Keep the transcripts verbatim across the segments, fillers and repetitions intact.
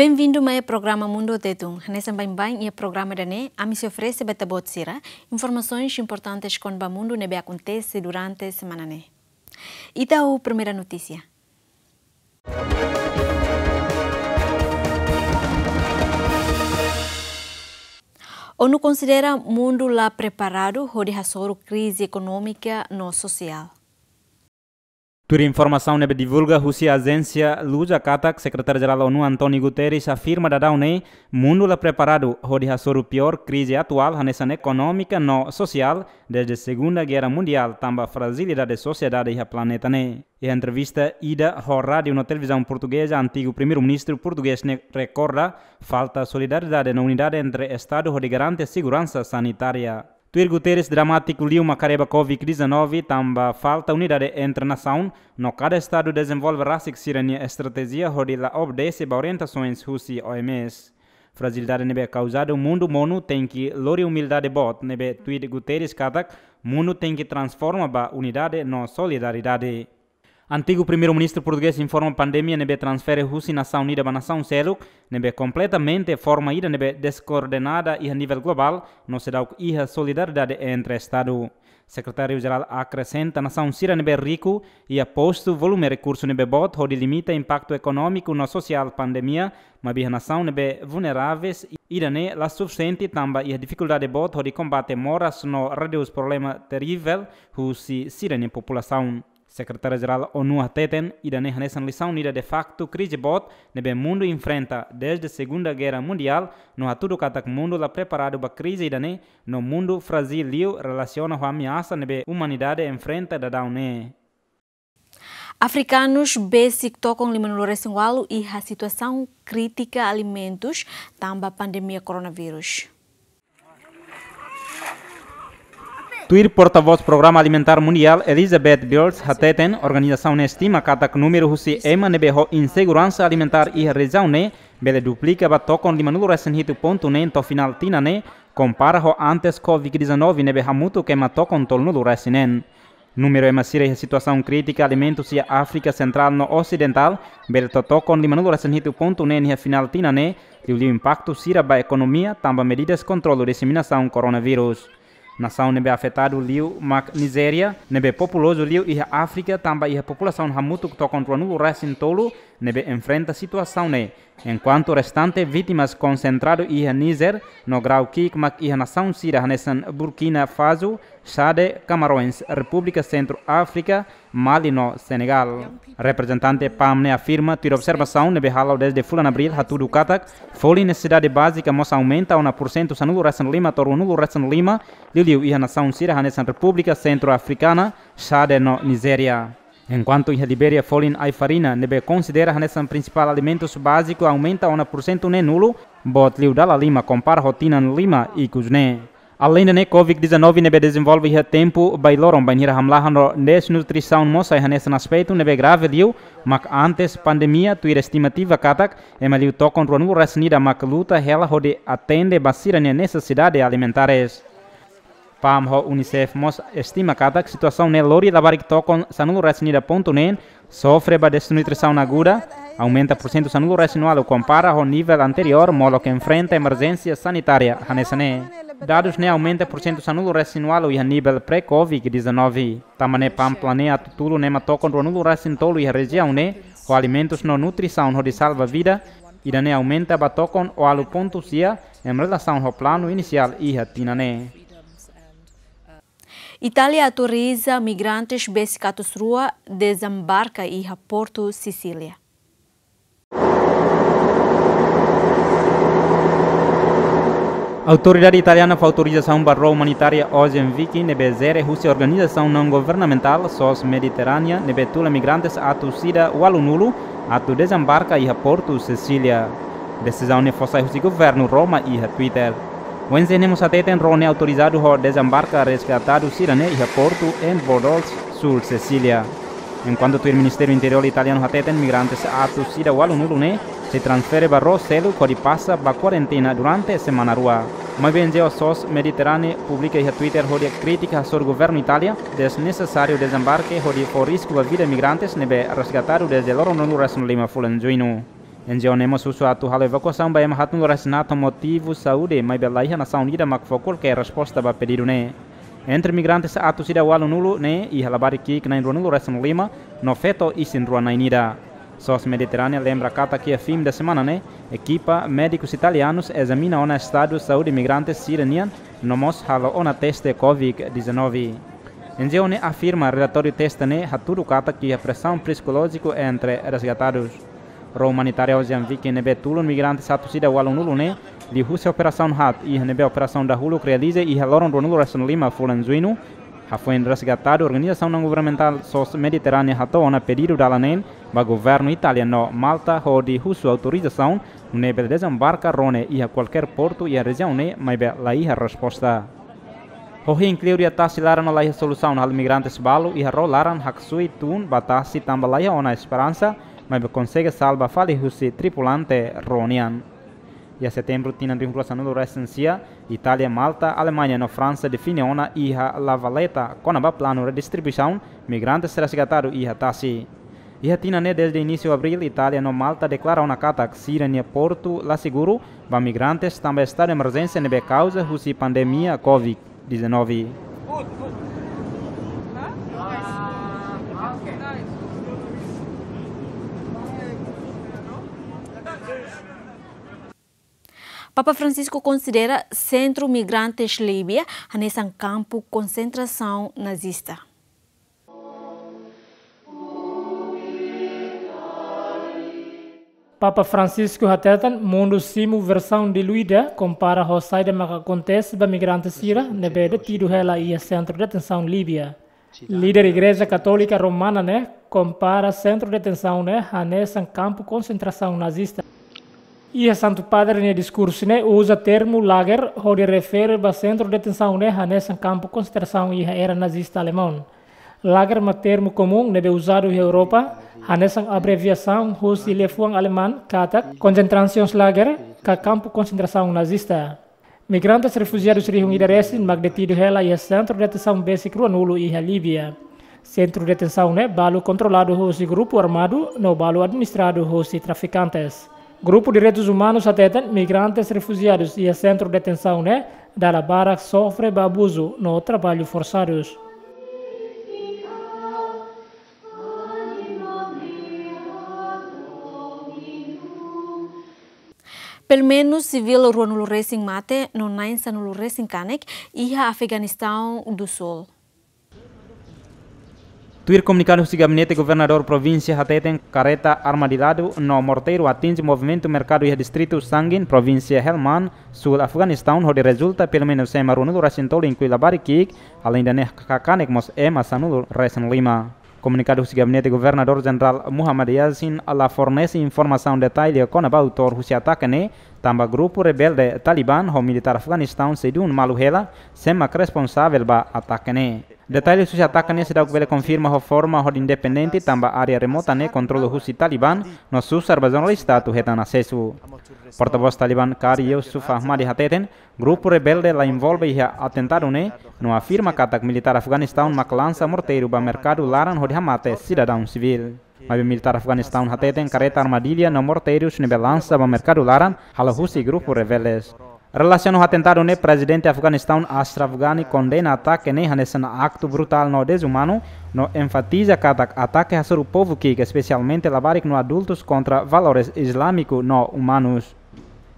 Benvindu mai programa Mundu Tetun. Hanesan baibain iha programa ida-ne'e, ami sei oferese ba ita-boot sira informasaun importante kona-ba mundu ne'ebé akontese durante semana ne'e. Ita ho primeira notísia. ONU konsidera mundu la preparadu hodi hasoru krize ekonómika no sosiál. Tuir informasaun ne'ebé divulga husi ajénsia Luza katak, Sekretáriu Jerál ONU António Guterres afirma daudaun ne'e, mundu la preparadu hodi hasoru piór krize atuál hanesan ekonómika no sosiál desde Segunda Guerra Mundiál, tanba frajilidade sosiedade iha planeta ne'e. Iha entrevista ida ho rádiu no televizaun portugeza, antigu Primeiru-Ministru portugés ne'e rekorda falta solidariedade no unidade entre Estadu hodi garante seguransa sanitária. Tuir Guterres, dramátiku liu mak haree ba Covid dezanove, tanba falta unidade entre nasaun, no kada Estadu dezenvolve rasik sira-nia estratéjia hodi la obedese ba orientasoens husi OMS. Frajilidade ne'ebé kauzadu mundu monu tenke lori umildade boot, ne'ebé tuir Guterres katak, mundu tenke transforma ba unidade no solidariedade. Antigu Primeiru-Ministru portugés informa pandemia ne'ebé transfere husi nasaun ida ba nasaun seluk, ne'ebé kompletamente forma ida ne'ebé deskoordenada iha nivel globál, no seidauk iha solidariedade entre Estadu. Sekretáriu Jerál akresenta nasaun sira ne'ebé riku iha postu volume rekursu ne'ebé boot hodi limita impaktu ekonómiku no sosiál pandemia, maibé iha nasaun ne'ebé vulneravel ida-ne'e la sufisiente tanba iha difikuldade boot hodi kombate moras no redús problema terivel husi sira-nia populasaun. Sekretáriu Jerál ONU hateten, ida-ne'e hanesan lisaun ida de faktu krize boot ne'ebé mundu enfrenta desde Segunda Guerra Mundiál, no hatudu katak mundu la preparadu ba krize ida-ne'e, no mundu frajil liu relasiona ho ameasa ne'ebé umanidade enfrenta daudaun ne'e. Afrikanus besik tokon limanulu-resin-ualu iha situasaun krítika alimentus tanba pandemia koronavírus. Tuir portavós Programa Alimentár Mundiál, Elizabeth Bird, hateten, organizasaun ne'e estima katak númeru husi ema ne'ebé ho inseguransa alimentár iha rejiaun ne'e bele duplika ba tokon limanulu-resin-hitu pontu neen to'o finál tinan ne'e, kompara ho antes Covid dezanove ne'ebé hamutuk ema tokon tolunulu-resin-neen. Númeru ema sira iha situasaun krítika alimentus iha Áfrika Sentrál no Osidentál bele to'o tokon limanulu-resin-hitu pontu neen iha finál tinan ne'e, liuliu impaktu sira ba ekonomia tanba medidas kontrolu diseminasaun koronavírus. Nasaun ne'ebé afetadu liu mak Nizéria, ne'ebé populozu liu iha Áfrika tanba iha populasaun hamutuk tokon ruanulu-resin-tolu ne'ebé enfrenta situasaun ne'e, enkuantu restante vítimas konsentradu iha Nízer no grau ki'ik mak iha nasaun sira hanesan Burkina Faso, Xade, Camarões, Repúblika Sentru Áfrika, Mali no Senegál. Reprezentante PAM ne'e afirma, tuir observasaun ne'ebé hala'o desde fulan Abríl, hatudu katak folin nesesidade bázika mós aumenta ona pursentu sanulu-resin-lima to'o ruanulu-resin-lima, liuliu iha nasaun sira hanesan Repúblika Sentru Afrikana, Xade no Nizéria. Enkuantu iha Libéria folin ai-farina ne'ebé konsidera hanesan prinsipál alimentus báziku aumenta ona pursentu neenulu, boot liu dala lima kompara ho tinan lima ikus ne'e. Aleinde ne'e, Covid dezanove ne'ebé dezenvolve iha tempu bailoron bainhira hamlaha no desnutrisaun mós sai hanesan aspetu ne'ebé grave liu mak antes pandemia, tuir estimativa katak ema liu tokon ruanulu-resin-ida mak luta hela hodi atende ba sira-nia nesesidade alimentares. PAM ho UNICEF mós estima katak situasaun ne'e lori labarik tokon sanulu-resin-ida pontu neen sofre ba desnutrisaun aguda, aumenta pursentu sanulu-resin-ualu kompara ho nivel anteriór molok enfrenta emerjénsia sanitária hanesan ne'e. Dadus ne'e aumenta pursentu sanulu-resin-ualu iha nivel pré-Covid dezanove. Tanba ne'e PAM planeia atu tulun ema tokon ruanulu-resin-tolu iha rejiaun ne'e ho alimentus no nutrisaun hodi salva vida, ida-ne'e aumenta ba tokon ualu pontu sia em relasaun ho planu inisiál iha tinan ne'e. Itália autoriza migrantes besik atus rua dezembarka iha Portu Sisília. Autoridade italiana fó autorizasaun ba ró umanitária Ocean Viking ne'ebé jere husi organizasaun naun-governamentál SOS Mediterránea ne'ebé tula migrantes atus ida ualunulu atu dezembarka iha Portu Sisília. Desizaun ne'e fó sai husi governu Roma iha Twitter. ONG ne'e mós hateten ró ne'e autorizadu hodi dezembarka resgatadu sira-ne'e iha portu em Bordeaux, súl Sisília. Enkuantu tuir Ministériu Interiór italianu hateten migrantes atus ida ualunulu ne'e sei transfere ba ró seluk hodi pasa ba kuarentena durante semana rua. Maibé ONG SOS Mediterránea publika iha Twitter hodi kritika hasoru governu Itália desnesesáriu dezembarke hodi fó risku ba vida migrantes ne'ebé resgatadu desde loron ruanulu-resin-lima fulan Juñu. N G O ne'e mós husu atu halo evakuasaun ba ema haatnulu-resin-haat ho motivu saúde, maibé laiha nasaun ida mak fó kualkér resposta ba pedidu ne'e. Entre migrantes atus ida ualunulu ne'e, iha labarik ki'ik na'in ruanulu-resin-lima, no feto isin rua na'in ida. SOS Mediterránea lembra katak iha fin de semana ne'e, ekipa médikus italianus ezamina ona estadu saúde migrantes sira-nian, no mós halo ona teste covid dezanove. N G O ne'e afirma relatóriu teste ne'e hatudu katak iha presaun psikolójiku entre resgatadus. Ró umanitáriu Ocean Viking ne'ebé tulun migrantes atus ida ualunulu ne'e, liuhusi operasaun haat iha ne'ebé operasaun dahuluk realiza iha loron ruanulu-resin-lima fulan Juñu, hafoin resgatadu organizasaun nongovernamentál SOS Mediterránea hato'o ona pedidu dalan neen ba governu Itália no Malta hodi husu autorizasaun nune'e bele dezembarka ró ne'e iha kualkér portu iha rejiaun ne'e, maibé laiha resposta. Ho hein kleur iha tasi laran no laiha solusaun halo migrantes balu iha ró laran haksoit tun ba tasi tanba laiha ona esperansa, maibé konsege salva fali husi tripulante ró nian. Iha setembru tinan rihun rua sanulu-resin-sia, Itália, Malta, Alemaña no Fransa define ona iha La Valetta kona-ba planu redistribuisaun migrantes resgatadu iha tasi. Iha tinan ne'e dezde inísiu abríl, Itália no Malta deklara ona katak sira-nia portu la seguru ba migrantes tanba estadu emerjénsia ne'ebé kauza husi pandemia covid dezanove. Papa Francisco konsidera sentru migrantes Líbia hanesan kampu konsentrasaun nazista. Papa Francisco hateten mundu simu versaun diluida kompara ho saida mak akontese ba migrante sira ne'ebé detidu hela iha sentru detensaun Líbia. Líder Igreja Katólika Romana ne'e kompara sentru detensaun ne'e hanesan kampu konsentrasaun nazista. Iha Santu Padre nia diskursu ne'e uza termu lager hodi refere ba sentru detensaun ne'e hanesan kampu konsentrasaun iha era nazista Alemaun. Lager mak termu komún ne'ebé uzadu iha Europa, hanesan abreviasaun husi liafuan Aleman katak Konzentrationslager ka kampu konsentrasaun nazista. Migrantes refujiadus rihun ida resin mak detidu hela iha sentru detensaun besik ruanulu iha Líbia. Sentru detensaun ne'e balu kontroladu husi grupu armadu no balu administradu husi trafikantes. Grupu direitus umanus hateten migrantes refujiadus iha sentru detensaun ne'e dala barak sofre ba abuzu no traballu forsadus. Pelumenus sivíl ruanulu resin mate no na'in-sanulu resin kanek iha Afeganistaun do Sul. Tuir komunikadu husi Gabinete Governadór Provínsia hateten kareta armadiladu no morteiru atinje movimentu merkadu iha distritu Sangin, Provínsia Helmand, Sul Afeganistaun, hodi rezulta pelumenus ema ruanulu resin tolu inklui labarik ki'ik, aleinde ne'e kanek mós ema sanulu-resin-lima. Komunikadu husi Gabinete Governadór Jenerál Muhammad Yasin la fornese informasaun detalle kona-ba autór husi atake ne'e, tanba grupu rebelde Taliban ho militár Afeganistaun sei duun malu hela sé mak responsavel ba atake ne'e. Detalle husi atake ne'e seidauk bele konfirma ho forma hodi independente tanba área remota ne'e kontrola husi Taliban, no susar ba jornalista atu hetan asesu. Portavós Taliban Qari Yusuf Ahmadi hateten, grupu rebelde la envolve iha atentadu ne'e, no afirma katak militár Afeganistaun mak lansa morteiru ba merkadu laran hodi hamate sidadaun sivíl. Maibé militár Afeganistaun hateten kareta armadilla no morteirus ne'ebé lansa ba merkadu laran halo husi grupu rebeldes. Relasiona ho atentadu ne'e, Prezidente Afeganistaun Ashraf Ghani kondena atake ne'e hanesan aktu brutál no dezumanu, no enfatiza katak atake hasoru povu ki'ik, espesialmente labarik no adultus, kontra valores islámiku no umanus.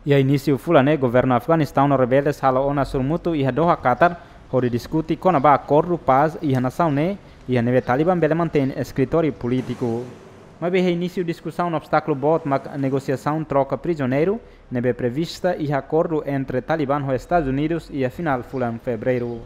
Iha inísiu fulan ne'e, governu Afeganistaun no rebeldes halo ona sorumutu iha Doha, Qatar, hodi diskute kona-ba akordu pás iha nasaun ne'e, iha ne'ebé Taliban bele mantein eskritóriu polítiku. Maibé iha inísiu diskusaun, obstákulu boot mak negosiasaun troka prizioneiru ne'ebé prevista iha akordu entre Taliban ho Estadus Unidus iha finál fulan Fevereiru.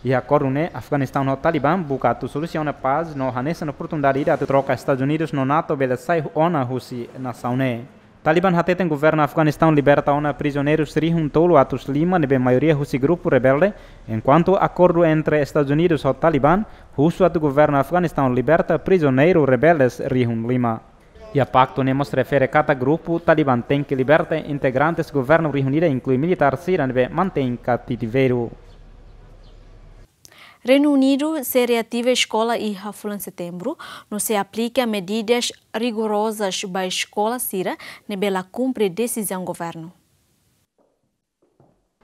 Iha akordu ne'e, Afeganistaun ho Taliban buka atu solusiona pás no hanesan oportunidade ida atu troka Estadus Unidus no NATO bele sai ona husi nasaun ne'e. Taliban hateten governu Afeganistaun liberta ona prizioneirus rihun tolu atus lima ne'ebé maioria husi grupu rebelde, enkuantu akordu entre Estadus Unidus ho Taliban husu atu governu Afeganistaun liberta prizioneiru rebeldes rihun lima. Iha paktu ne'e mós refere katak grupu Taliban tenke liberta integrantes governu rihun ida, inklui militár sira ne'ebé mantein kativeru. Reinu Unidu sei reativa eskola iha fulan Setembru, no sei aplika medidas rigorozas ba eskola sira ne'ebé la kumpre desizaun governu.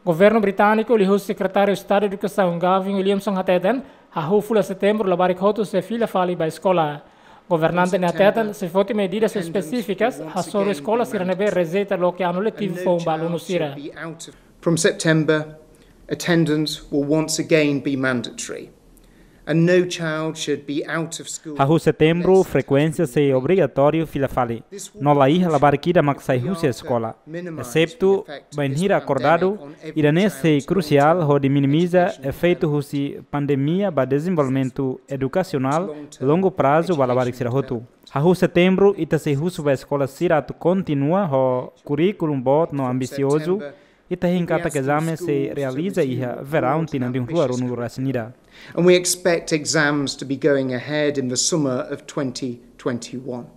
Governu britániku liuhusi Sekretáriu Estadu Edukasaun Gavin Williamson hateten, hahú fulan Setembru labarik hotu sei fila fali ba eskola. Governante ne'e hateten, sei foti medidas espesífikas, hasoru eskola sira ne'ebé rejeita loke anu letivu foun ba alunu sira. From September, attendance will once again be mandatory, and no child should be out of school. Hahú Setembru, frekuénsia sei obrigatóriu fila fali. No la iha labarik ida mak sai husi eskola. Exetu bainhira akordadu, ida-ne'e sei krusiál hodi minimiza efeitu husi pandemia ba dezenvolvimentu edukasionál longu prazu ba labarik sira hotu. Hahú Setembru, ita sei husu ba eskola sira atu kontinua ho kurríkulu boot no ambisiozu, ita hein katak ezame sei realiza iha veraun tinan rihun rua ruanulu resin ida. And we expect exams to be going ahead in the summer of twenty twenty-one.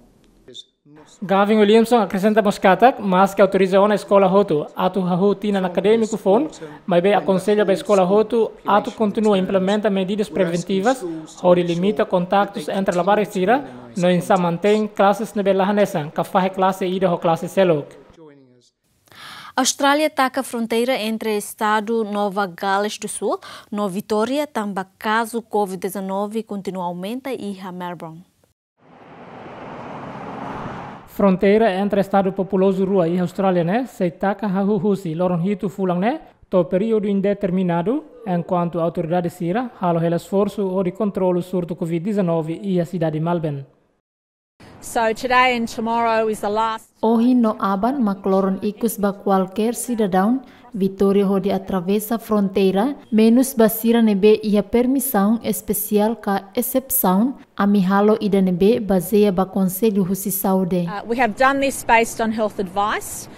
Gavin Williamson akresenta mós katak, maske autoriza ona eskola hotu atu hahú tinan akadémiku foun, maibé akonsella ba eskola hotu atu kontinua implementa medidas preventivas, hodi limita kontaktus entre labarik sira, no oinsá mantein klases ne'ebé la hanesan, ka fahe klase ida ho klase seluk. Austrália taka fronteira entre estadu Nova Gales do Sul no Vitória tanba kazu covid dezanove kontinua aumenta iha Melbourne. Fronteira entre estadu populozu rua iha Austrália ne'e sei taka hahú husi loron hitu fulan ne'e to'o períodu indeterminadu, enkuantu autoridade sira halo hela esforsu hodi kontrolu surtu covid dezanove iha sidade Melbourne. So today and tomorrow is the last. Ohin no aban mak loron ikus ba kualkér sidadaun Vitória hodi atravesa fronteira, menus ba sira ne'ebé iha permisaun espesiál ka esepsaun, ami halo ida-ne'ebé bazeia ba konsellu husi saúde. Uh, we have done this based on health advice.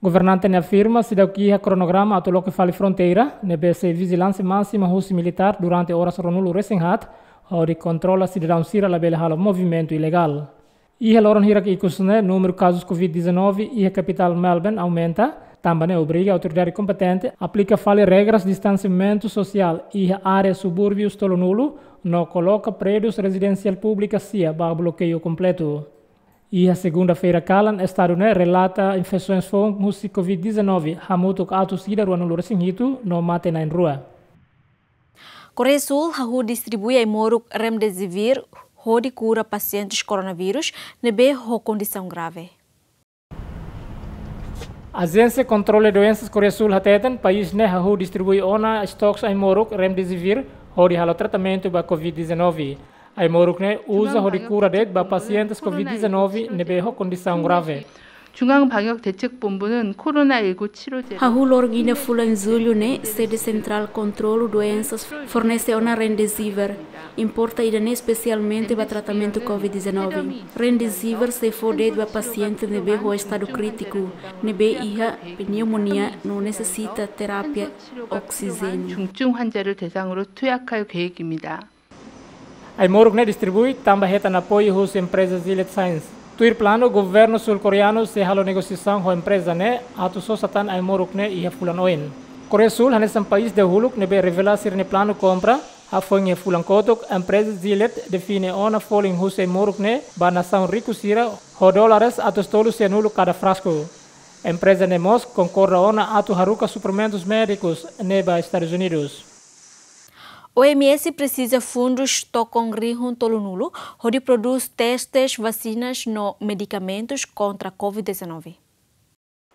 Governante ne'e afirma seidauk iha kronograma atu loke fali fronteira, ne'ebé sei vijilánsia másima husi militár durante oras ruanulu resin haat, hodi kontrola sidadaun sira labele halo movimentu ilegál. Iha loron hirak ikus ne'e, númeru kazus covid dezanove iha kapitál Melbourne aumenta, tanba ne'e obriga autoridade kompetente aplika fali regras distansiamentu sosiál iha área subúrbius tolunulu, no koloka prédius rezidensiál públika sia ba blokeiu kompletu. Iha segunda-feira kalan, estadu ne'e relata infesaun foun husi covid dezanove, hamutuk atus ida ruanulu resin hitu, no mate na'in rua. Koreia Súl hahú distribui ai-moruk remdesivir hodi kura pasientes koronavírus ne'ebé ho kondisaun grave. Ajénsia Kontrolu Doensas Koreia Súl hateten, país ne'e hahú distribui ona estoks ai-moruk remdesivir hodi halo tratamentu ba covid dezanove. Ai-moruk ne'e uza hodi kura de'it ba pasientes covid dezanove ne'ebé ho kondisaun grave. 중앙방역대책본부는 코로나 일구 치료제를 Hahú loron ida fulan Jullu ne'e, sede Sentrál Kontrolu Doensas fornese ona remdesivir. Importa ida-ne'e espesialmente ba tratamentu covid dezanove. Remdesivir sei fó de'it ba pasiente ne'ebé ho estadu krítiku, ne'ebé iha pneumonia no nesesita terapia oksijéniu. 중증 환자를 대상으로 투약할 계획입니다. Ai-moruk ne'e distribui tanba hetan apoiu husi empreza Gilead Sciences. Tuir planu, governu sul-koreanu sei halo negosiasaun ho empreza ne'e atu sosa tan ai-moruk ne'e iha fulan oin. Koreia Súl hanesan país dahuluk ne'ebé revela sira-nia planu kompra. Hafoin iha fulan kotuk, empreza Gilead define ona folin husi ai-moruk ne'e ba nasaun riku sira ho dólares atus tolu sianulu kada frasku. Empreza ne'e mós konkorda ona atu haruka suprimentus médikus ne'e ba Estadus Unidus. O M S presiza fundus tokon rihun tolunulu hodi prodús testes, vasinas no medikamentus kontra covid dezanove.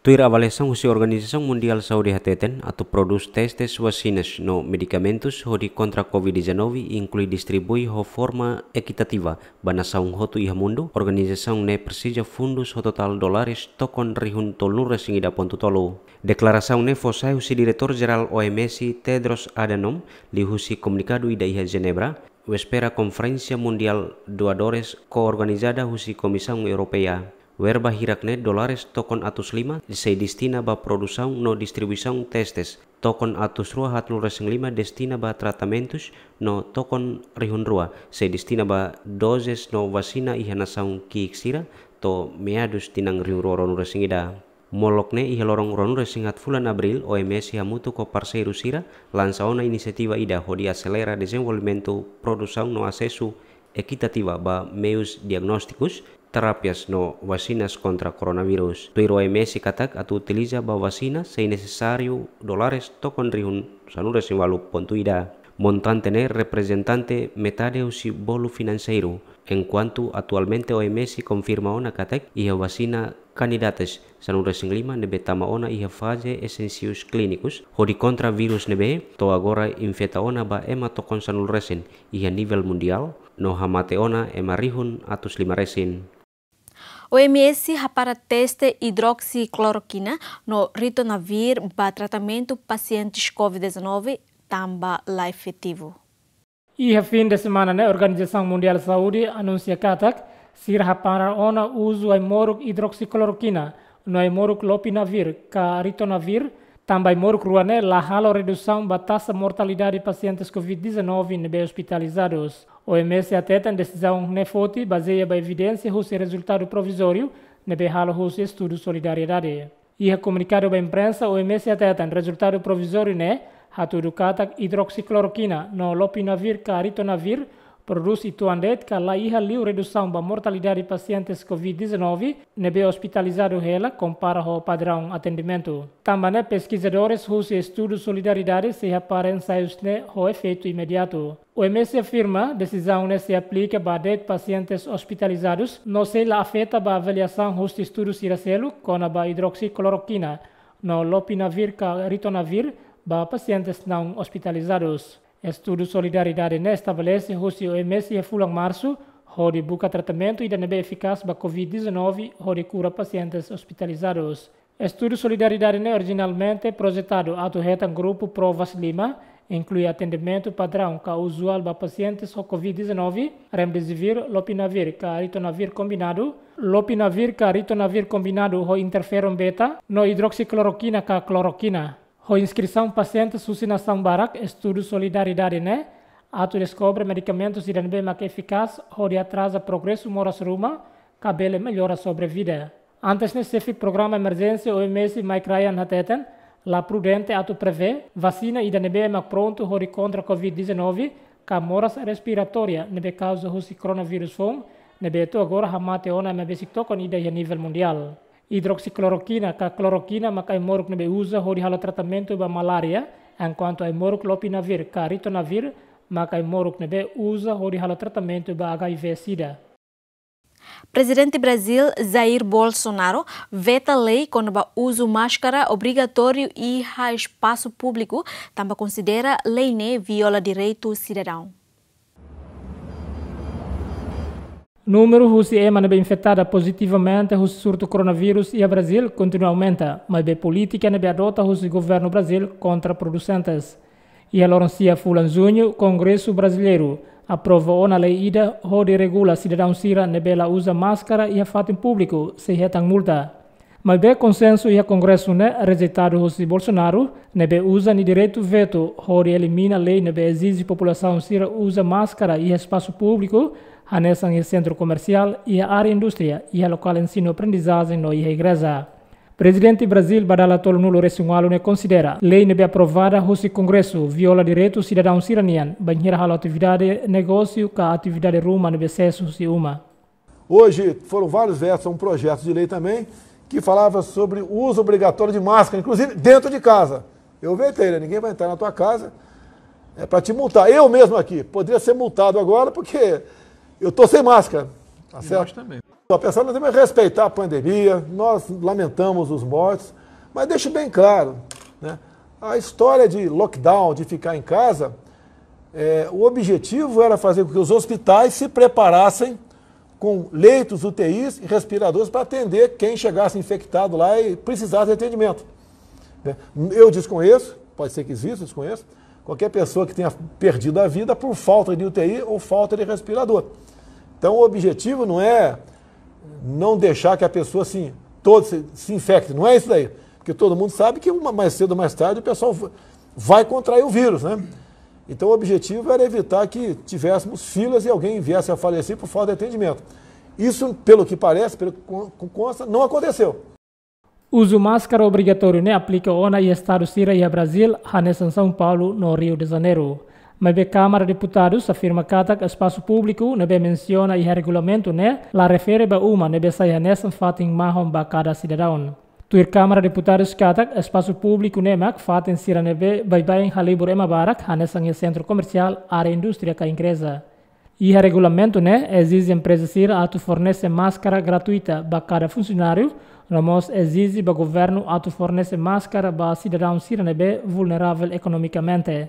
Tuir avaliasaun husi Organizasaun Mundiál Saúde hateten, atu prodús testes, vasinas no medikamentus hodi kontra covid dezanove, inklui distribui ho forma ekitativa ba nasaun hotu iha mundu, organizasaun ne'e presiza fundus ho totál dólares tokon rihun tolunulu resin ida pontu tolu. Deklarasaun ne'e fó sai husi Diretór Jerál O M S Tedros Adhanom, liuhusi komunikadu ida iha Jenebra, wésperas Konferénsia Mundiál Doadores ko-organizada husi Komisaun Europeia. Verba hirak ne'e dólares tokon atus lima sei destina ba produsaun no distribuisaun testes, tokon atus rua haatnulu resin lima destina ba tratamentus, no tokon rihun rua sei destina ba dozes no vasina iha nasaun ki'ik sira, to'o meadus tinan rihun rua ruanulu resin ida. Molok ne'e iha loron ruanulu-resin-haat fulan Abríl, O M S hamutuk ho parseiru sira lansa ona inisiativa ida hodi aselera dezenvolvimentu, produsaun no asesu ekitativa ba meius diagnóstikus, terapias no vasinas kontra koronavírus. Tuir O M S katak atu utiliza ba vasina sei nesesáriu dólares tokon rihun sanulu-resin-ualu pontu ida. Montante ne'e reprezentante metade husi bolu finanseiru, enkuantu atualmente O M S konfirma ona katak iha vasina kandidatas sanulu-resin-lima ne'ebé tama ona iha faze ensaius klínikus hodi kontra vírus ne'ebé to'o agora infeta ona ba ema tokon sanulu-resin iha nivel mundiál, no hamate ona ema rihun atus lima resin. O M S hapara teste idroksiklorokina no ritonavir ba tratamentu pasientes covid dezanove tanba la efetivu. Iha fin de semana ne'e, Organizasaun Mundiál Saúde anunsia katak sira hapara ona uzu ai-moruk idroksiklorokina no ai-moruk lopinavir ka ritonavir, tanba ai-moruk rua ne'e la halo redusaun ba taxa mortalidade pasientes covid dezanove ne'ebé ospitalizadus. O M S hateten desizaun ne'e foti bazeia ba evidénsia husi rezultadu provizóriu ne'ebé halo husi estudu solidariedade. Iha komunikadu ba imprensa, O M S hateten rezultadu provizóriu ne'e hatudu katak idroksiklorokina no lopinavir ka ritonavir prodús uitoan de'it ka la iha liu redusaun ba mortalidade pasientes covid dezanove ne'ebé ospitalizadu hela kompara ho padraun atendimentu. Tanba ne'e peskizadores husi estudu solidariedade sei hapara ensaius ne'e ho efeitu imediatu. O M S afirma desizaun ne'e sei aplika ba de'it pasientes ospitalizadus no sei la afeta ba avaliasaun husi estudu sira seluk kona-ba idroksiklorokina no lopinavir ka ritonavir ba pasientes naun ospitalizadus. Estudu solidariedade ne'e estabelese husi O M S iha fulan Marsu hodi buka tratamentu ida ne'ebé efikás ba covid dezanove hodi kura pasientes ospitalizadus. Estudu solidariedade ne'e orijinalmente projetadu atu hetan grupu provas lima, inklui atendimentu padraun ka uzuál ba pasientes ho covid dezanove, remdesivir, lopinavir ka ritonavir kombinadu, lopinavir ka ritonavir kombinadu ho interferon beta, no idroksiklorokina ka klorokina. Ho inskrisaun pasientes husi nasaun barak, estudu solidariedade ne'e atu deskobre medikamentus ida ne'ebé mak efikás hodi atraza progresu moras ruma ka bele mellora sobrevida. Antes ne'e, xefe programa emerjénsia O M S, Mike Ryan, hateten la prudente atu prevee vasina ida ne'ebé mak prontu hodi kontra covid dezanove ka moras respiratória ne'ebé kauza husi koronavírus foun, ne'ebé to'o agora hamate ona ema besik tokon ida iha nivel mundiál. Idroksiklorokina ka klorokina mak ai-moruk ne'ebé uza hodi halo tratamentu ba malária, enkuantu ai-moruk lopinavir ka ritonavir mak ai-moruk ne'ebé uza hodi halo tratamentu ba H I V sida. Prezidente Brazil, Jair Bolsonaro, veta lei kona-ba uzu máskara obrigatóriu iha espasu públiku, tanba konsidera lei ne'e viola direitu sidadaun. Númeru husi ema ne'ebé infetada pozitivamente husi surtu koronavírus iha Brazil kontinua aumenta, maibé polítika ne'ebé adota husi governu Brazil kontraprodusentes. Iha loron sia fulan Juñu, Kongresu Brazilieiru aprova ona lei ida hodi regula sidadaun sira ne'ebé la uza máskara iha fatin públiku sei hetan multa. Maibé konsensu iha Kongresu ne'e rejeitadu husi Bolsonaro, ne'ebé uza nia direitu vetu hodi elimina lei ne'ebé ezije populasaun sira uza máskara iha espasu públiku, hanesan iha sentru komersiál, iha área indústria, iha lokál ensinu-aprendizajen no iha igreja. Prezidente Brazil ba dala tolunulu-resin-ualu ne'e konsidera lei ne'ebé aprovada husi Kongresu viola direitu sidadaun sira-nian, bainhira halo atividade negósiu ka atividade ruma ne'ebé sees husi uma. Hoje foram vários vetos a um projeto de lei também que falava sobre o uso obrigatório de máscara, inclusive dentro de casa. Eu vetei, né? Ninguém vai entrar na tua casa, é para te multar. Eu mesmo aqui poderia ser multado agora porque eu tô sem máscara, tá certo? Nós também. A pessoa, nós temos que respeitar a pandemia, nós lamentamos os mortos, mas deixo bem claro, né? A história de lockdown, de ficar em casa, é, o objetivo era fazer com que os hospitais se preparassem com leitos, U T Is e respiradores para atender quem chegasse infectado lá e precisasse de atendimento, né? Eu desconheço, pode ser que exista, desconheço, qualquer pessoa que tenha perdido a vida por falta de U T I ou falta de respirador. Então, o objetivo não é não deixar que a pessoa se, todo se, se infecte, não é isso daí. Porque todo mundo sabe que uma, mais cedo ou mais tarde o pessoal va-, vai contrair o vírus, né? Então, o objetivo era evitar que tivéssemos filas e alguém viesse a falecer por falta de atendimento. Isso, pelo que parece, pelo que con-, consta, não aconteceu. Uzu máskara obrigatóriu ne'e aplika ona iha estadu sira iha Brazíl, hanesan São Paulo no Rio de Janeiro. Maibé Kámara Deputadus afirma katak espasu públiku ne'ebé mensiona iha regulamentu ne'e la refere ba uma ne'ebé sai hanesan fatin mahon ba kada sidadaun. Tuir Kámara Deputadus katak espasu públiku ne'e mak fatin sira ne'ebé baibain halibur ema barak, hanesan iha sentru komersiál, área indústria ka igreja. Iha regulamentu ne'e ezije empreza sira atu fornese máskara gratuita ba kada funsionáriu, no mós ezije ba governu atu fornese máskara ba sidadaun sira ne'ebé vulneravel ekonomikamente.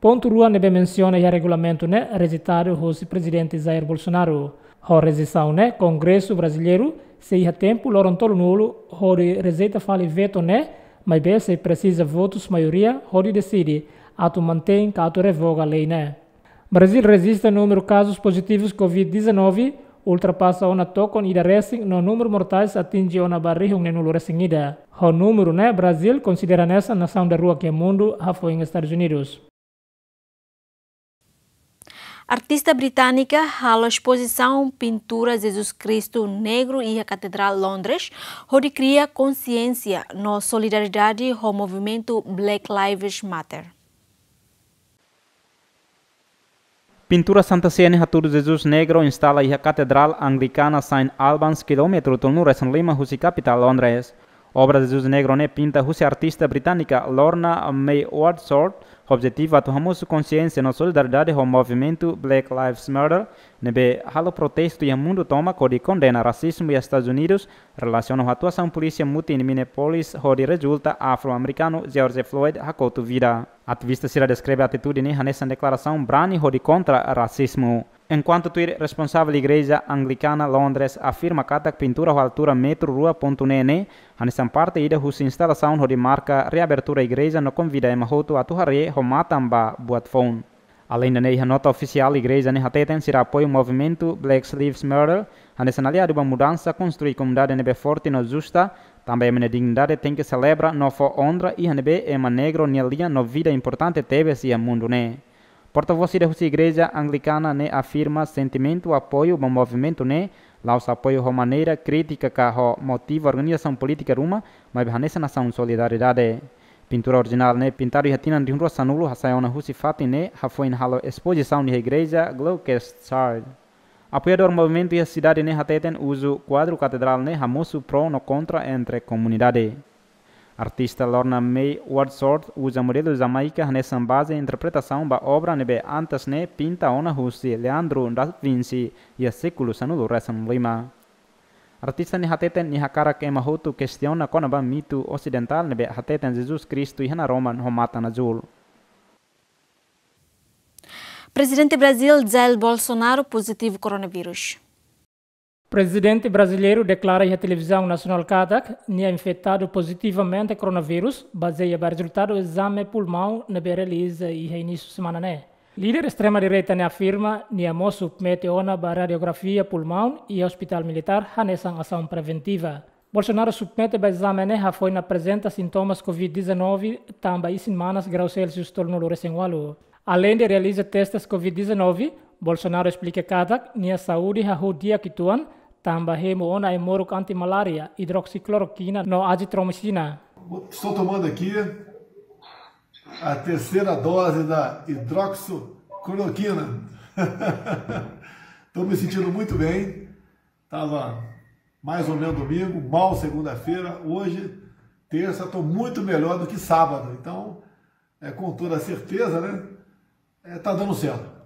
Pontu rua ne'ebé mensiona iha regulamentu ne'e rejeitadu hosi Prezidente Jair Bolsonaro. Ho rejeisaun ne'e, Kongresu Brasileiru sei iha tempu loron tolunulu hodi rejeita fali veto ne'e, maibé sei presiza votus maioria hodi deside atu mantein ka atu revoga lei ne'e. Brazíl rejista númeru kazus pozitivus covid dezanove ultrapasa ona tokon ida resin no númeru mortais atinje ona ba rihun neenulu resin ida. Ho númeru ne'e Brazíl konsidera hanesan nasaun daruak iha mundu hafoin Estadus Unidus. Artista británika halo espozisaun pintura Jesus Kristu Negru iha Katedrál Londres, hodi kria konsiénsia no solidariedade ho movimentu Black Lives Matter. Pintura Santa Sé ne'e hatudu Jesus Negro instala iha Katedrál Anglikana Saint Albans, kilómetru tolunulu resin lima husi kapitál Londres. Obra Jesus Negro ne'e pinta husi artista británika Lorna May Wordsworth, ho objetivu atu hamosu konsiénsia no solidariedade ho movimentu Black Lives Matter, ne'ebé halo protestu iha mundu tomak hodi kondena rasizmu iha Estadus Unidus, relasiona ho atuasaun polísia mutin iha Minneapolis hodi rezulta afro-amerikanu George Floyd hakotu vida. Ativista sira deskreve atitude ne'e hanesan deklarasaun brani hodi kontra rasizmu. Enkuantu tuir responsavel Igreja Anglikana Londres afirma katak pintura ho altura metru rua pontu neen ne'e hanesan parte ida husi instalasaun hodi marka reabertura igreja no konvida ema hotu atu haree ho matan ba buat foun. Aleinde ne'e, iha nota ofisiál igreja ne'e hateten sira apoiu movimentu Black Lives Matter, hanesan aliadu ba mudansa, konstrui komunidade ne'ebé forte no justa, tanba ema nia dignidade tenke selebra no fó onra iha ne'ebé ema negro nia lian no vida importante tebes iha mundu ne'e. Portavós ida husi Igreja Anglikana ne'e afirma sentimentu apoiu ba movimentu ne'e, la'ós apoiu ho maneira krítika ka ho motiva organizasaun polítika ruma, maibé hanesan asaun solidariedade. Pintura orijinál ne'e pintadu iha tinan rihun rua sanulu hasai ona husi fatin ne'e hafoin halo espozisaun iha Igreja Gloucester. Apoiadór movimentu iha sidade ne'e hateten uzu kuadru katedrál ne'e hamosu pró no kontra entre komunidade. Artista Lorna May Wordsworth uza modelu Jamaica hanesan baze interpretasaun ba obra ne'ebé antes ne'e pinta ona husi Leandro da Vinci iha sékulu sanulu resin lima. Artista ne'e hateten nia hakarak ema hotu kestiona kona-ba mitu osidentál ne'ebé hateten Jesus Kristu iha naroman ho matan azúl. Prezidente Brazíl Jair Bolsonaro pozitivu koronavírus. Prezidente brasileiru deklara iha televizaun nasionál katak nia infetadu pozitivamente koronavírus, bazeia ba rezultadu ezame pulmaun ne'ebé realiza iha inísiu semana ne'e. Líder estrema direita ne'e afirma nia mós submete ona ba radiografia pulmaun iha Hospitál Militár hanesan asaun preventiva. Bolsonaro submete ba ezame ne'e hafoin aprezenta sintomas covid dezanove tanba isin-manas grau Celsius tolunulu resin ualu. Aleinde realiza testes covid dezanove, Bolsonaro esplika katak nia saúde hahú di'ak uitoan, tanba hemu ona ai-moruk anti-malária, idroksicloroquina no azitromicina. Estou tomando aqui a terceira dose da hidroxicloroquina. Estou me sentindo muito bem. Tava mais ou menos domingo, mal segunda-feira, hoje, terça, estou muito melhor do que sábado. Então, é, com toda certeza, né? É, tá dando certo.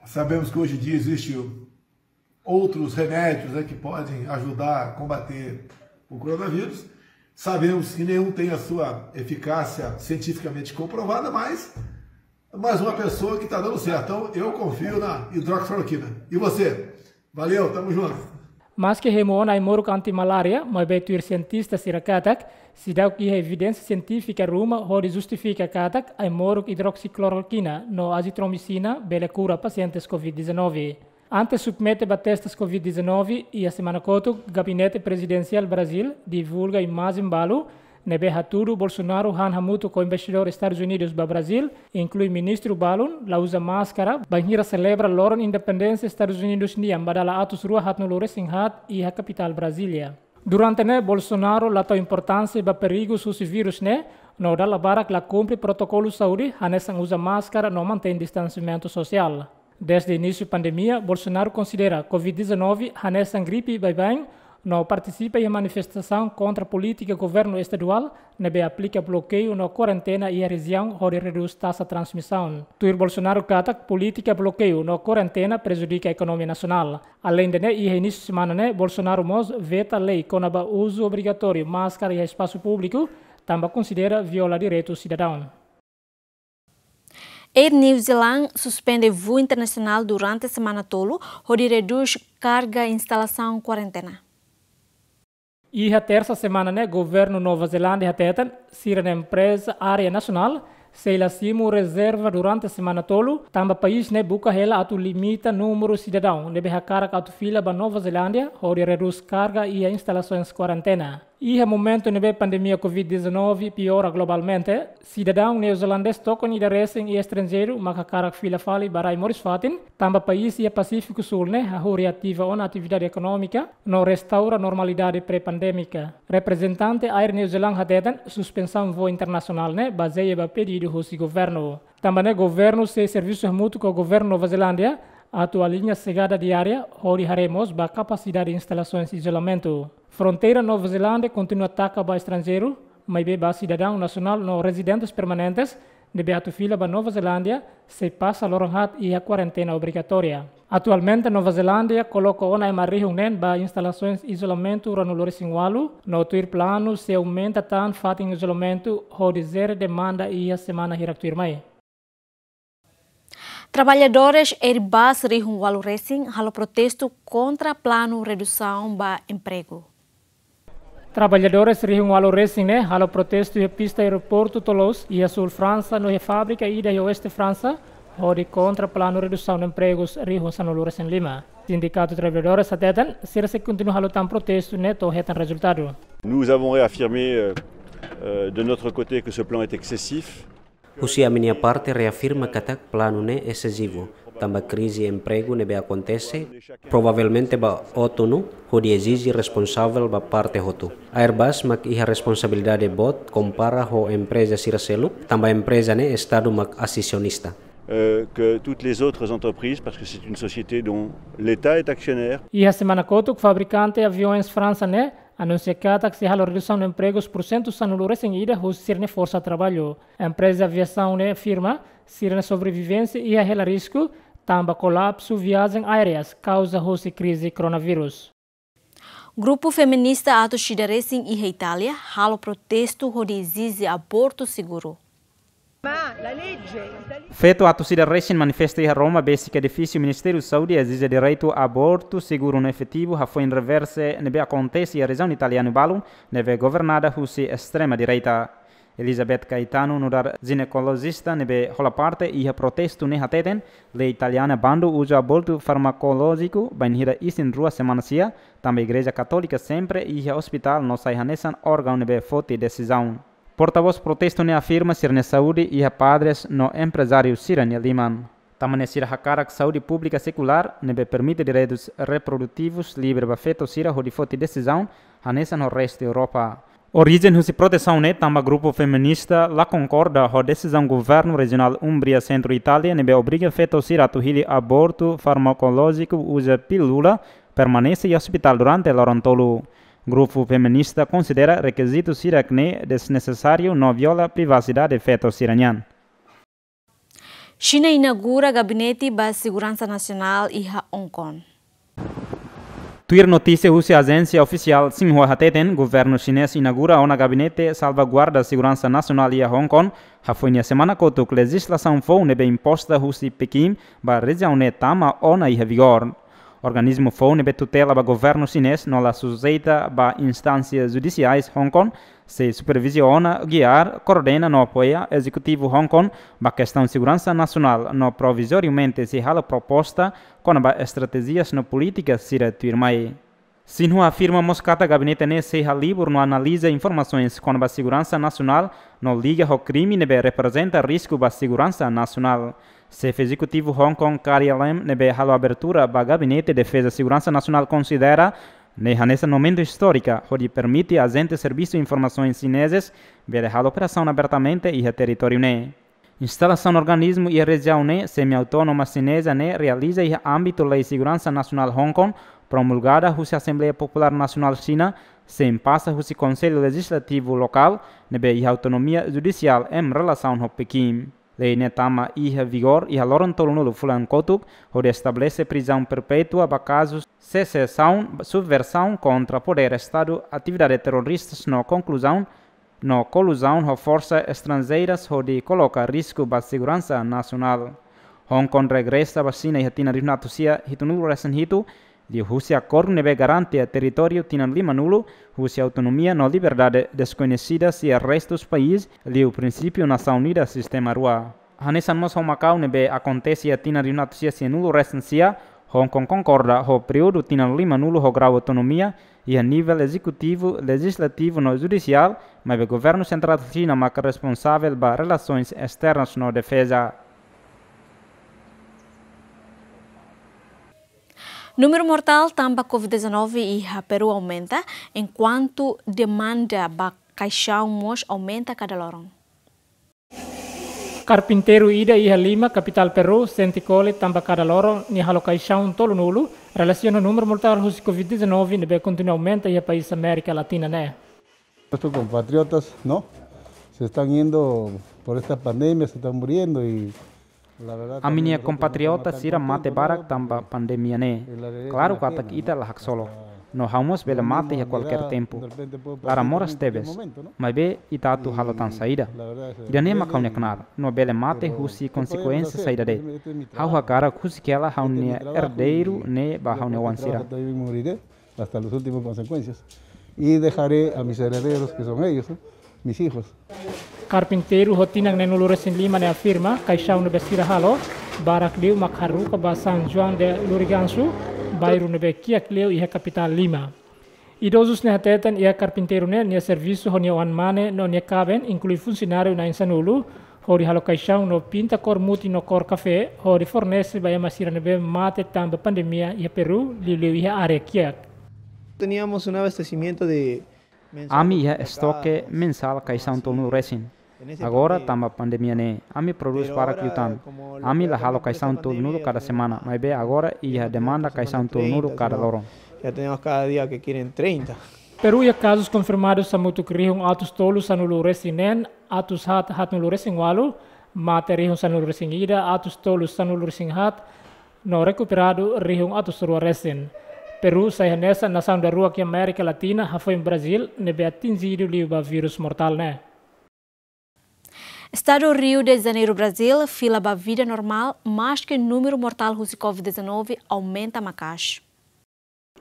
Sabemos que hoje em dia existe outros remédios, né, que podem ajudar a combater o coronavírus. Sabemos que nenhum tem a sua eficácia cientificamente comprovada, mas mais uma pessoa que tá dando certo. Então, eu confio na hidroxicloroquina. E você? Valeu, tamo junto. Maske hemu ona ai-moruk anti-malária, maibé tuir sientista sira katak seidauk iha evidénsia sientífika ruma hodi justifika katak ai-moruk idroksicloroquina no azitromicina bele kura pasientes covid dezanove. Antes submete ba testes covid dezanove, iha semana kotuk, Gabinete Prezidensiál Brazíl divulga imajen balu ne'ebé hatudu Bolsonaro han hamutuk ho embaixadór Estadus Unidus ba Brazíl, inklui ministru balun, la uza máskara, bainhira selebra loron independénsia Estadus Unidus nian ba dala atus rua haatnulu resin haat iha kapitál Brazília. Durante ne'e, Bolsonaro la tau importánsia ba perigu husi vírus ne'e, no dala barak la kumpre protokolu saúde, hanesan uza máskara no mantein distansiamentu sosiál. Dezde inísiu pandemia, Bolsonaro konsidera covid dezanove hanesan gripe baibain, no partisipa iha manifestasaun kontra polítika governu estaduál ne'ebé aplika blokeiu no kuarentena iha rejiaun hodi redús taxa transmisaun. Tuir Bolsonaro katak polítika blokeiu no kuarentena prejudika ekonomia nasionál. Aleinde ne'e, iha inísiu semana ne'e, Bolsonaro mós veta lei kona-ba uzu obrigatóriu máskara iha espasu públiku, tanba konsidera viola direitu sidadaun. Air New Zealand suspende voo internasionál durante semana tolu, hodi redús karga instalasaun kuarentena. Iha tersa semana ne'e, governu Nova Zelándia hateten, sira-nia empreza aérea nasionál sei la simu rezerva durante semana tolu, tanba país ne'e buka hela atu limita númeru sidadaun ne'ebé hakarak atu fila ba Nova Zelándia, hodi redús karga iha instalasoens kuarentena. Iha momentu ne'ebé pandemia covid dezanove piora globalmente, sidadaun neozelandés tokon ida resin iha estranjeiru mak hakarak fila fali ba rai moris fatin, tanba país iha Pasífiku Súl ne'e hahú reativa ona atividade ekonómika no restaura normalidade pré-pandémika. Reprezentante Air New Zealand hateten, suspensaun voo internasionál ne'e bazeia ba pedidu husi governu. Tanba ne'e governu sei servisu hamutuk ho governu Nova Zelándia atu aliña xegada diária hodi haree mós ba kapasidade instalasoens izolamentu. Fronteira Nova Zelándia kontinua taka ba estranjeiru, maibé ba sidadaun nasionál no rezidentes permanentes ne'ebé atu fila ba Nova Zelándia sei pasa loron haat iha kuarentena obrigatória. Atualmente, Nova Zelándia koloka ona ema rihun neen ba instalasoens izolamentu ruanulu resin ualu, no tuir planu sei aumenta tan fatin izolamentu hodi jere demanda iha semana hirak tuirmai. Traballadores Airbus rihun ualu resin halo protestu kontra planu redusaun ba empregu. Traballadores rihun ualu resin ne'e halo protestu iha pista aeroportu Toulouse, iha súl Fransa, no iha fábrika ida iha oeste Fransa, hodi kontra planu redusaun empregus rihun sanulu resin lima. Sindikatu traballadores hateten, sira sei kontinua halo tan protestu ne'e to'o hetan rezultadu. Nous avons réaffirmé, euh, euh, de notre côté que ce plan est excessif. Husi ami-nia parte reafirma katak planu ne'e esesivu, tanba krize empregu ne'ebé akontese, provavelmente ba outono, hodi ezije responsavel ba parte hotu. Airbus mak iha responsabilidade boot kompara ho empreza sira seluk, tanba empreza ne'e Estadu mak asionista. Euh, que toutes les autres entreprises, parce que c'est une société dont l'État est actionnaire. Iha semana kotuk, fabrikante aviasoens Fransa ne'e anunsia katak sei halo redusaun empregus pursentu sanulu resin ida husi sira-nia forsa traballu. Empreza aviasaun ne'e afirma, sira-nia sobrevivénsia iha hela risku, tanba kolapsu viajen aéreas kauza husi krize koronavírus. Grupu feminista atus ida resin iha Itália halo protestu hodi ezije abortu seguru. Feto atus ida resin manifesta iha Roma, besik edifísiu Ministériu Saúde, ezije direitu abortu seguru no efetivu hafoin reverse ne'ebé akontese iha rejiaun italianu balun ne'ebé governada husi estrema direita. Elizabeth Caetano, nu'udar jinekolojista ne'ebé hola parte iha protestu ne'e hateten, lei italiana bandu uzu abortu farmakolójiku bainhira isin-rua semana sia, tanba Igreja Katólika sempre iha ospitál no sai hanesan órgaun ne'ebé foti desizaun. Portavós protestu ne'e afirma sira-nia saúde iha padres no emprezáriu sira-nia liman. Tanba ne'e sira hakarak saúde públika sekulár ne'ebé permite direitus reprodutivus livre ba feto sira hodi foti desizaun hanesan ho restu Europa. Orijen husi protesaun ne'e tanba grupu feminista la konkorda ho desizaun governu rejionál Umbria, sentru Itália, ne'ebé obriga feto sira atu hili abortu farmakolójiku uza pílula permanese iha ospitál durante loron tolu. Grupu feminista konsidera rekizitu sira-ne'e desnesesáriu no viola privasidade feto sira-nian. Xina inaugura gabinete ba seguransa nasionál iha Hong Kong. Tuir notísia husi ajénsia ofisiál Xinhua hateten, governu xinés inaugura ona gabinete salvaguarda seguransa nasionál iha Hong Kong, hafoin iha semana kotuk lejizlasaun foun ne'ebé imposta husi Pekin ba rejiaun ne'e tama ona iha vigór. Organismu foun ne'ebé tutela ba governu xinés no la sujeita ba instánsia judisiais Hong Kong, sei superviziona, giar, koordena no apoia ezekutivu Hong Kong ba kestaun seguransa nasionál no provizoriamente sei halo proposta kona-ba estratéjias no polítika sira tuirmai. Xinhua afirma mós katak gabinete ne'e sei halibur no analiza informasoens kona-ba seguransa nasionál no liga ho krime ne'ebé reprezenta risku ba seguransa nasionál. Xefe ezekutivu Hong Kong, Carrie Lam, ne'ebé halo abertura ba Gabinete Defeza Seguransa Nasionál konsidera ne'e hanesan momentu istórika hodi permite ajente servisu informasoens xinezes bele halo operasaun abertamente iha territóriu ne'e. Instalasaun organismu iha rejiaun ne'e semi-autónoma xineza ne'e realiza iha ámbitu Lei Seguransa Nasionál Hong Kong, promulgada husi Asembleia Populár Nasionál Xina, sein pasa husi Konsellu Lejizlativu lokál, ne'ebé iha autonomia judisiál em relasaun ho Pekin. Lei ne'e tama iha vigór iha loron tolunulu fulan kotuk, hodi estabelese prizaun perpétua ba kazu sesesaun, subversaun kontra podér Estadu, atividade terroristas no konkluzaun no koluzaun ho forsa estranjeiras hodi koloka risku ba seguransa nasionál. Hong Kong regresa ba Xina iha tinan rihun atus sia hitunulu resin hitu, liuhusi akordu ne'ebé garante territóriu tinan limanulu husi autonomia no liberdade deskoñesida iha restu país, liu prinsípiu nasaun unida sistema rua. Hanesan mós ho Makau ne'ebé akontese iha tinan rihun atus sia sianulu resin sia, Hong Kong konkorda ho períodu tinan limanulu ho grau autonomia iha nivel ezekutivu, lejizlativu no judisiál, maibé governu sentrál Xina mak responsavel ba relasoens esternas no defeza. Númeru mortál tanba covid dezanove iha Peru aumenta, enkuantu demanda ba kaixaun mós aumenta kada loron. Karpinteiru ida iha Lima, kapitál Peru, sente kole tanba kada loron nia halo kaixaun tolunulu, relasiona númeru mortál husi covid dezanove ne'ebé kontinua aumenta iha país Amérika Latina ne'e. Nuestros compatriotas, ¿no? Se están yendo por esta pandemia, se están muriendo y la verdad también nosotros no queremos matar gente, ¿no? Ami-nia kompatriota sira mate barak tanba pandemia ne'e. Klaru katak ita la haksolok, no ha'u mós bele mate iha kualkér tempu. Laran moras tebes, maibé ita atu halo tan saida? Ida-ne'e mak ha'u-nia knaar, no bele mate husi konsekuénsia saida de'it. Ha'u hakarak husik hela ha'u-nia erdeiru ne'e ba ha'u-nia oan sira. Hasta las últimas consecuencias. Y dejaré a mis herederos, que son ellos, ¿no? Mis hijos. Karpinteiru ho tinan neenulu resin lima ne'e afirma, kaixaun ne'ebé sira halo, barak liu mak haruka ba San Juan de Lurigancho, bairru ne'ebé kiak liu iha kapitál Lima. Idozus ne'e hateten iha karpinteiru ne'e nia servisu ho nia oan mane no nia kaben, inklui funsionáriu na'in sanulu, hodi halo kaixaun no pinta kór mutin no kór kafé, hodi fornese ba ema sira ne'ebé mate tanba pandemia iha Peru, liuliu iha área kiak. Teníamos un abastecimiento de mensal. Ami iha estoke mensál kaixaun tolunulu resin. Agora tanba pandemia ne'e, ami prodús barak liután. Ami la halo kaixaun tolunulu kada semana, maibé agora iha demanda kaixaun tolunulu kada loron. Ya tenemos cada día que quieren treinta. Peru iha kazus konfirmadus hamutuk rihun atus tolu sanulu resin neen, atus haat haatnulu resin ualu, mate rihun sanulu resin ida, atus tolu sanulu resin haat, no rekuperadu rihun atus rua resin. Peru sai hanesan nasaun daruak iha Amérika Latina, hafoin Brazíl, ne'ebé atinjidu liu ba vírus mortál ne'e. Estadu Rio de Janeiro, Brazíl, fila ba vida normál, maske númeru mortál husi covid dezanove aumenta maka'as.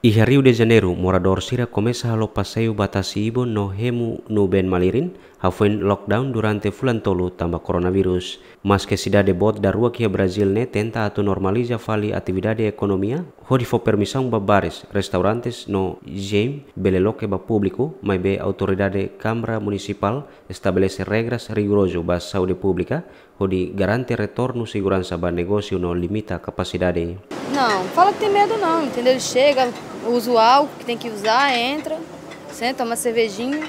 Iha Rio de Janeiro, moradór sira komesa halo paseiu ba tasi-ibun no hemu nubeen malirin, hafoin lockdown durante fulan tolu tanba koronavírus. Maske sidade boot daruak iha Brazíl ne'e tenta atu normaliza fali atividade ekonomia, hodi fó permisaun ba bares, restaurantes no gym bele loke ba públiku, maibé autoridade Kámara Munisipál estabelese regras rigorozu ba saúde públika, hodi garante retornu seguransa ba negósiu no limita kapasidade. Não, fala que tem medo não, entendeu? Ele chega, usa o álcool que tem que usar, entra, senta, toma cervejinha,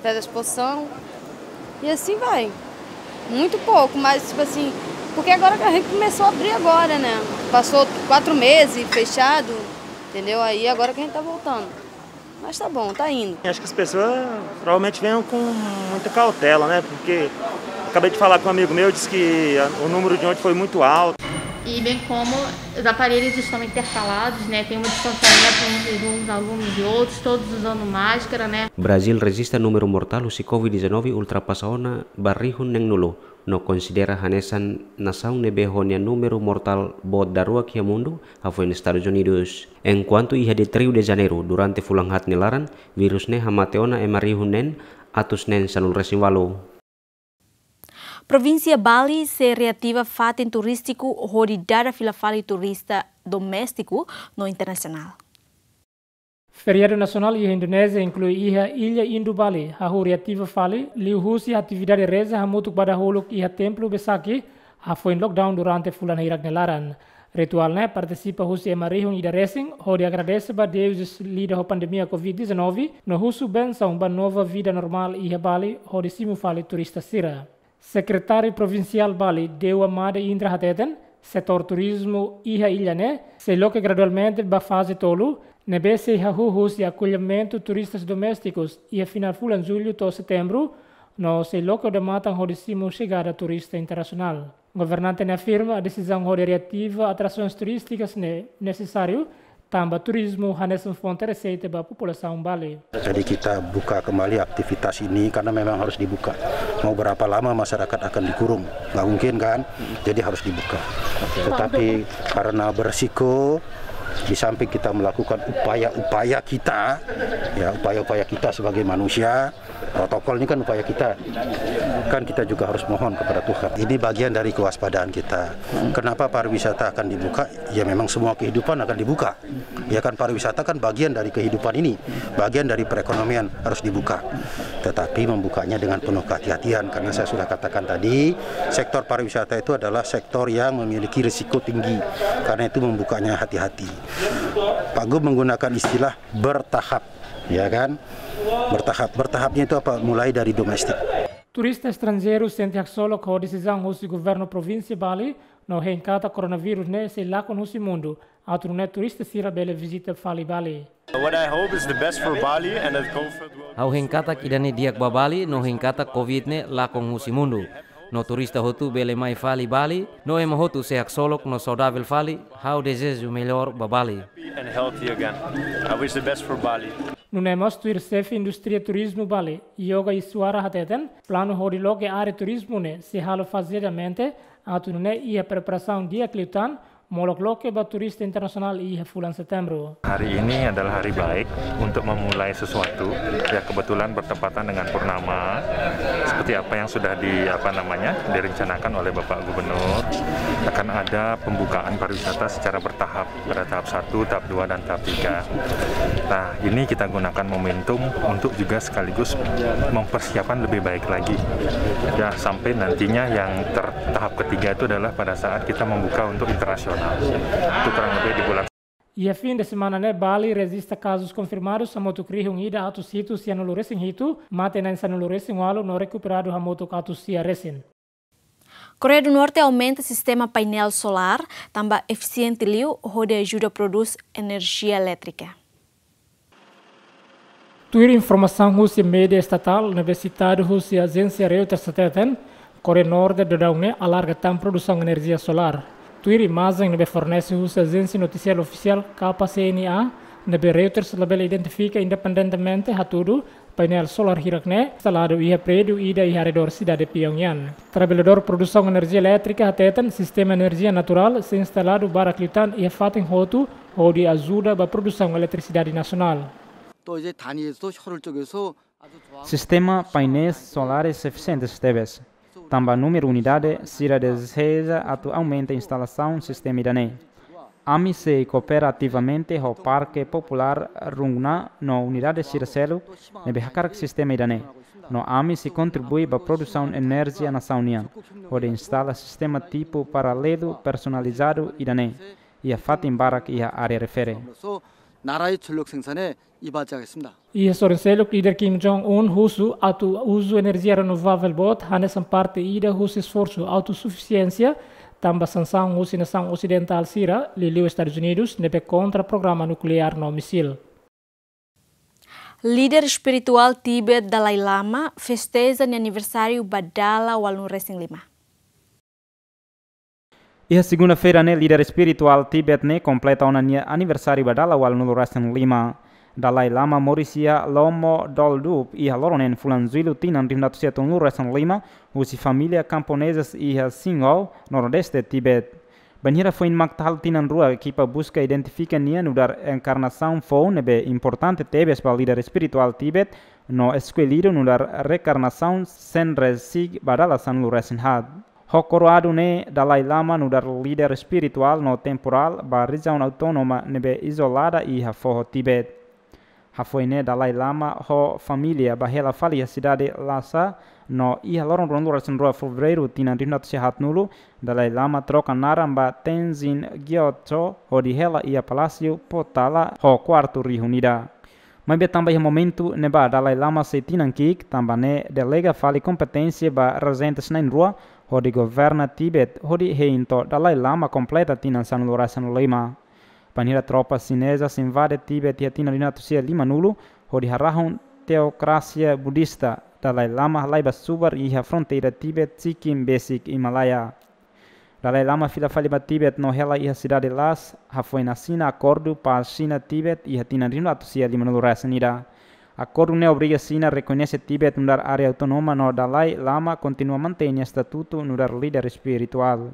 faz a exposição e assim vai. Muito pouco, mas tipo assim, porque agora que a gente começou a abrir agora, né? Passou quatro meses fechado, entendeu? Aí agora que a gente tá voltando. Mas tá bom, tá indo. Acho que as pessoas provavelmente venham com muita cautela, né? Porque acabei de falar com um amigo meu, disse que a, o número de ontem foi muito alto. E bem como os aparelhos estão intercalados, né? Tem um distanciamento entre uns alunos e outros, todos usando máscara, né? Brazíl rejista númeru mortál husi covid dezanove ultrapasa ona ba rihun neenulu, no konsidera hanesan nasaun ne'ebé ho nia númeru mortál boot daruak iha mundu, hafoin Estadus Unidus. Enkuantu iha Rio de Janeiro, durante fulan haat nia laran, vírus ne'e hamate ona ema rihun neen atus neen sanulu resin ualu. Provínsia Bali sei reativa fatin turístiku hodi dada fila fali turista doméstiku no internasionál. Feriadu nasionál iha Indonézia inklui iha illa indu Bali, hahú reativa fali, liuhusi atividade reza hamutuk ba dahuluk iha templu Besakih, hafoin lockdown durante fulan hirak nia laran. Rituál ne'e partisipa husi ema rihun ida resin, hodi agradese ba deuses lida ho pandemia covid dezanove, no husu bensaun ba nova vida normál iha Bali, hodi simu fali turista sira. Sekretáriu Provinsiál Bali, Dewa Made Indra hateten, setór turizmu iha illa ne'e sei loke gradualmente ba faze tolu, ne'ebé sei hahú husi akollimentu turistas doméstikus iha final fulan jullu to'o setembru, no sei loke odamatan hodi simu xegada turista internasionál. Governante ne'e afirma desizaun hodi reativa atrasoens turístikas ne'e nesesáriu, tanba turizmu hanesan fonte reseita ba populasaun Bali. Jadi kita buka kembali aktivitas ini karena memang harus dibuka. Mau berapa lama masyarakat akan dikurung? Nggak mungkin kan? Jadi harus dibuka. Tetapi karena beresiko, di samping kita melakukan upaya-upaya kita, ya, upaya-upaya kita sebagai manusia, protokol ini kan upaya kita. Kan kita juga harus mohon kepada Tuhan. Ini bagian dari kewaspadaan kita. Kenapa pariwisata akan dibuka? Ya memang semua kehidupan akan dibuka. Ya kan, pariwisata kan bagian dari kehidupan ini, bagian dari perekonomian, harus dibuka. Tetapi membukanya dengan penuh kehati-hatian, karena saya sudah katakan tadi, sektor pariwisata itu adalah sektor yang memiliki risiko tinggi. Karena itu membukanya hati-hati. Pak Gub menggunakan istilah bertahap, ya kan? Bertahap. Bertahapnya itu apa? Mulai dari domestik. Turista estranjeiru sente haksolok ho desizaun husi governu provinsi Bali, no hein katak koronavírus ne'e sei lakon husi mundu, atu nune'e turista sira bele vizita fali Bali. What I hope is the best for Bali and that COVID will... Ha'u hein katak ida-ne'e di'ak ba Bali, no hein katak covid ne'e lakon husi mundu. No turista hotu bele mai fali Bali, no ema hotu sei haksolok no saudavel fali, ha'u dezeja o melhor ba Bali. And healthy again. I wish the best for Bali. Nune'e mós tuir xefe indústria turizmu Bali, Yoga Iswara hateten, planu hodi loke área turizmu ne'e sei halo fazeadamente, atu nune'e iha preparasaun di'ak liután, molok loke ba turista internasionál iha fulan setembru. Hari ini adalah hari baik untuk memulai sesuatu. Ya, kebetulan bertepatan dengan purnama. Seperti apa yang sudah di, apa namanya, direncanakan oleh Bapak Gubernur, akan ada pembukaan pariwisata secara bertahap, pada tahap satu, tahap dua, dan tahap tiga. Nah, ini kita gunakan momentum untuk juga sekaligus mempersiapkan lebih baik lagi. Ya, sampai nantinya yang ter-, tahap ketiga itu adalah pada saat kita membuka untuk internasional. Itu kurang lebih di bulan... Iha fin de semana ne'e Bali rejista kazus konfirmadus hamutuk rihun ida atus hitu sianulu resin hitu, mate na'in sanulu resin ualu no rekuperadu hamutuk atus sia resin. Koreia do Norte aumenta sistema painel solár, tanba efisiente liu, hodi ajuda prodús enerjia elétrika. Tuir informasaun husi média estatál ne'ebé sitadu husi ajénsia Reuters hateten, Koreia Norte daudaun ne'e alarga tan produsaun enerjia solár. Tuir imajen ne'ebé fornese husi ajénsia notisiál ofisiál K C N A, ne'ebé Reuters labele identifika independentemente hatudu, painel solár hirak ne'e instaladu iha prédiu ida iha arredór sidade Pyongyang. Traballadór produsaun enerjia elétrika hateten sistema enerjia naturál sei instaladu barak liután iha fatin hotu, hodi ajuda ba produsaun eletrisidade nasionál. 또 이제 단위에서도 효율적에서 아주 좋아. Sistema painéis solares efisientes tebes. Tanba númeru unidade sira dezeja atu aumenta instalasaun sistema ida-ne'e. Ami sei koopera ativamente ho Parke Populár Rungna no unidade sira seluk ne'ebé hakarak sistema ida-ne'e. No ami sei kontribui ba produsaun enerjia nasaun nian, hodi instala sistema tipu paralelu personalizadu ida-ne'e iha fatin barak iha área refere. 나라의 전력 생산에 이바지하겠습니다. Iha sorin seluk, líder Kim Jong Un husu atu uzu enerjia renovável boot hanesan parte ida husi esforsu autosufisiénsia, tanba sansaun husi nasaun osidentál sira, liuliu Estadus Unidus, ne'ebé kontra programa nukleár no misil. Líder espirituál Tibete Dalai Lama festeja nia aniversáriu ba dala ualunulu resin lima. Iha segunda-feira ne'e, líder espirituál Tibete ne'e kompleta ona nia aniversáriu ba dala ualunulu resin lima. Dalai Lama moris iha Lhomodoldup iha loron neen fulan Jullu tinan rihun atus sia tolunulu resin lima, husi família kamponezas iha Shingo, nordeste Tibete. Bainhira foin mak taha'uk tinan rua, ekipa buska identifika nia nu'udar enkarnasaun foun ne'ebé importante tebes ba líder espirituál Tibete, no eskellidu nu'udar reenkarnasaun Senrezig ba dala sanulu resin haat. Ho koroadu ne'e, Dalai Lama nu'udar líder espirituál no temporál ba rejiaun autónoma ne'ebé izolada iha foho Tibete. Hafoin ne'e Dalai Lama ho família bá hela fali iha sidade Lhasa, no iha loron ruanulu-resin-rua Fevereiru tinan rihun atus sia haatnulu, Dalai Lama troka naran ba Tenzin Gyatso hodi hela iha Palásiu Potala ho kuartu rihun ida. Maibé tanba iha momentu ne'ebá Dalai Lama sei tinan ki'ik, tanba ne'e delega fali kompeténsia ba rezentes na'in-rua hodi governa Tíbet, hodi hein to'o Dalai Lama kompleta tinan sanulu-resin-lima. Bainhira tropa xineza invade Tíbet iha tinan rihun atus sia limanulu, hodi harahun teokrasia budista, Dalai Lama halai bá subar iha fronteira Tíbet, Sikkim besik Himalaia. Dalai Lama fila fali ba Tíbet no hela iha sidade Lhasa, hafoin asina akordu pás Xina-Tíbet iha tinan rihun atus sia limanulu-resin-ida. Akordu ne'e obriga Xina rekoñese Tíbet nu'udar área autónoma no Dalai Lama kontinua mantein estatutu nu'udar líder espirituál.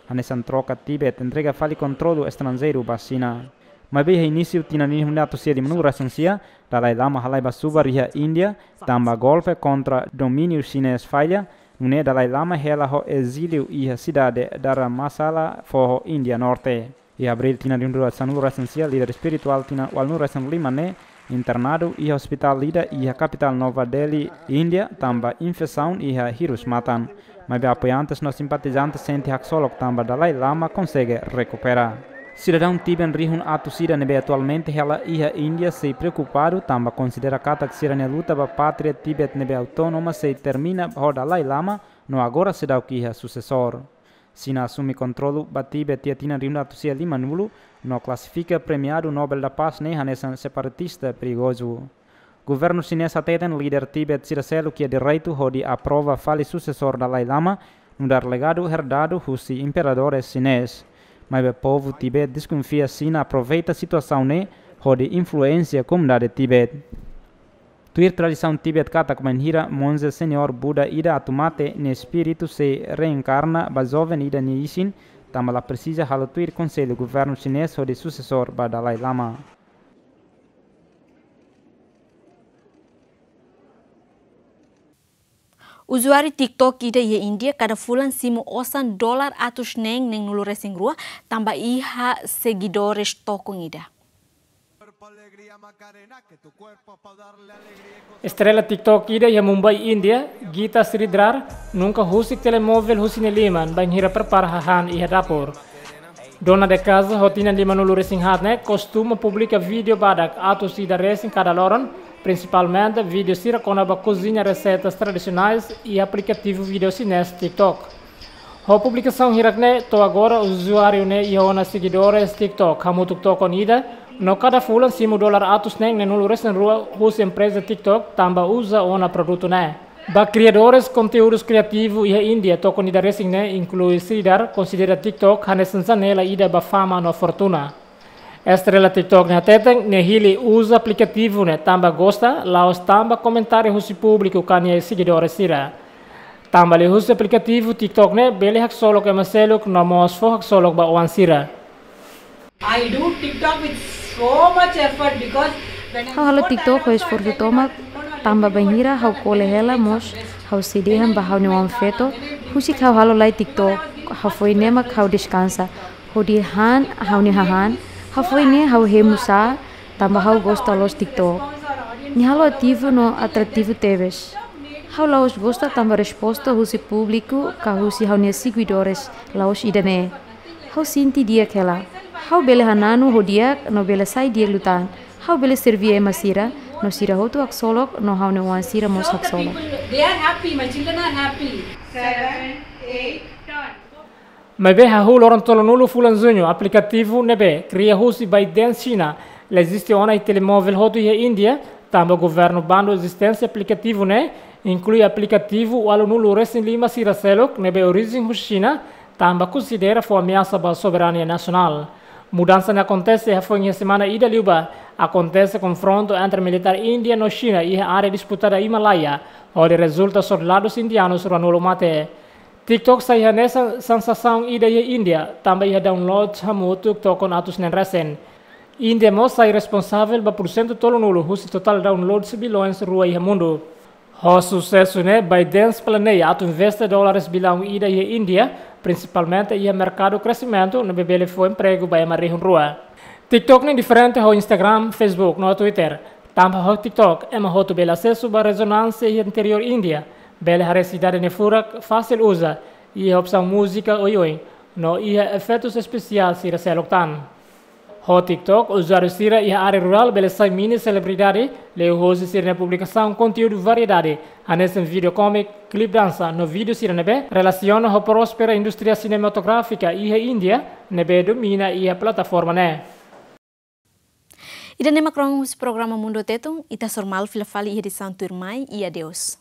Hanesan troka Tíbet entrega fali kontrolu estranjeiru ba Xina. Maibé iha inísiu tinan rihun atus sia limanulu-resin-sia, Dalai Lama halai bá subar iha Índia, tanba golpe kontra domíniu xinés falla, nune'e Dalai Lama hela ho ezíliu iha sidade Dharamsala, foho Índia Norte. Iha Abríl tinan rihun rua sanulu-resin-sia, líder espirituál tinan ualunulu-resin-lima ne'e internadu iha ospitál ida iha kapitál Nova Delhi, Índia, tanba infesaun iha hirus matan. Maibé apoiantes no simpatizantes sente haksolok tanba Dalai Lama konsege rekupera. Sidadaun Tíbet rihun atus ida ne'ebé atualmente hela iha Índia sei preokupadu tanba konsidera katak sira-nia luta ba pátria Tíbet ne'ebé autónoma sei termina ho Dalai Lama, no agora seidauk iha susesór. Xina asume kontrolu ba Tíbet iha tinan rihun atus sia limanulu, no klasifika Prémiu Nobel da Paz ne'e hanesan separatista perigozu. Governu xinés hateten líder Tíbet sira seluk iha direitu hodi aprova fali susesór Dalai Lama, nu'udar legadu herdadu husi imperadór xinés. Maibé povu Tíbet deskonfia Xina aproveita situasaun ne'e hodi influénsia komunidade Tíbet. Tuir tradisaun Tíbet katak bainhira monje señór Buda ida atu mate, nia espíritu sei reenkarna ba joven ida nia isin, tanba la presiza halo tuir konsellu governu xinés hodi susesór ba Dalai Lama. Uzuáriu TikTok ida iha Índia kada fulan simu osan dolar atus neen neenulu-resin-rua, tanba iha segidores tokon ida. Estrela TikTok ida iha Mumbai, Índia, Geeta Sridhar, nunka husik telemovel husi nia liman bainhira prepara hahán iha dapur. Dona de casa ho tinan limanulu-resin-haat ne'e kostuma publika vídeo badak atus ida resin kada loron, prinsipalmente vídeo sira kona-ba koziña reseitas tradisionais iha aplikativu vídeo xinés TikTok. Ho publikasaun hirak ne'e, to'o agora uzuáriu ne'e iha ona segidores TikTok hamutuk tokon ida, no kada fulan simu dolar atus neen neenulu-resin-rua husi empreza TikTok tanba uza ona produtu ne'e. Ba kriadores konteúdus kriativu iha Índia, tokon ida resin ne'e, inklui Sridhar, konsidera TikTok hanesan janela ida ba fama no fortuna. Estrela TikTok ne'e hateten, nia hili uza aplikativu ne'e tanba gosta, la'ós tanba komentáriu husi públiku ka nia segidores sira. Tanba liuhusi aplikativu TikTok ne'e bele haksolok ema seluk no mós fó haksolok ba oan sira. I do TikTok with so much effort because when I Ha'u halo TikTok ho esforsu tomak, tanba bainhira ha'u kole hela mós ha'u sei dehan ba ha'u-nia oan-feto, husik ha'u halo lai TikTok, hafoin ne'e mak ha'u deskansa. Hodi han ha'u-nia hahán, hafoin ne'e ha'u hemu sá, tanba ha'u gosta loos TikTok. Nia halo ativu no atrativu tebes. Ha'u la'ós gosta tanba resposta husi públiku ka husi ha'u-nia seguidores, la'ós ida-ne'e. Ha'u sente di'ak hela. Ha'u bele hananu ho di'ak no bele sai di'ak liután. Ha'u bele serví ema sira, no sira hotu haksolok, no ha'u-nia oan sira mós haksolok. They are happy, my children are happy. Seven, eight, turn. Maibé hahú loron tolunulu fulan Juñu, aplikativu ne'ebé kria husi ByteDance Xina la eziste ona iha telemovel hotu iha Índia, tanba governu bandu ezisténsia aplikativu ne'e, inklui aplikativu ualunulu-resin-lima sira seluk ne'ebé orijen husi Xina, tanba konsidera fó ameasa ba soberania nasionál. Mudansa ne'e akontese hafoin iha semana ida liubá, akontese konfrontu entre militár Índia no Xina iha área disputada Himalaia, hodi rezulta soldadus indianus ruanulu mate. TikTok sai hanesan sensasaun ida iha Índia, tanba iha downloads hamutuk tokon atus neen resin. Índia mós sai responsavel ba pursentu tolunulu husi totál downloads bilhões rua iha mundu. Ho susesu ne'e, ByteDance planeia atu investe dólares bilaun ida iha Índia, prinsipalmente iha merkadu kresimentu ne'ebé bele fó empregu ba ema rihun rua. TikTok ne'e diferente ho Instagram, Facebook no Twitter. Tanba ho TikTok, ema hotu bele asesu ba rezonánsia iha interiór Índia, bele haree sidade nia furak fasil uza, iha opsaun múzika oioin, no iha efeitus espesiál sira seluk tan. Ho TikTok, uzuáriu sira iha área rurál bele sai mini selebridade, liuhosi sira-nia publikasaun konteúdu variedade, hanesan vídeo kómiku, klip dansa, no vídeo sira ne'ebé relasiona ho próspera indústria sinematográfika iha Índia, ne'ebé domina iha plataforma ne'e. Ida-ne'e mak rona husi programa Mundu Tetun, ita hasoru malu fila fali iha edisaun tuirmai, i adeus.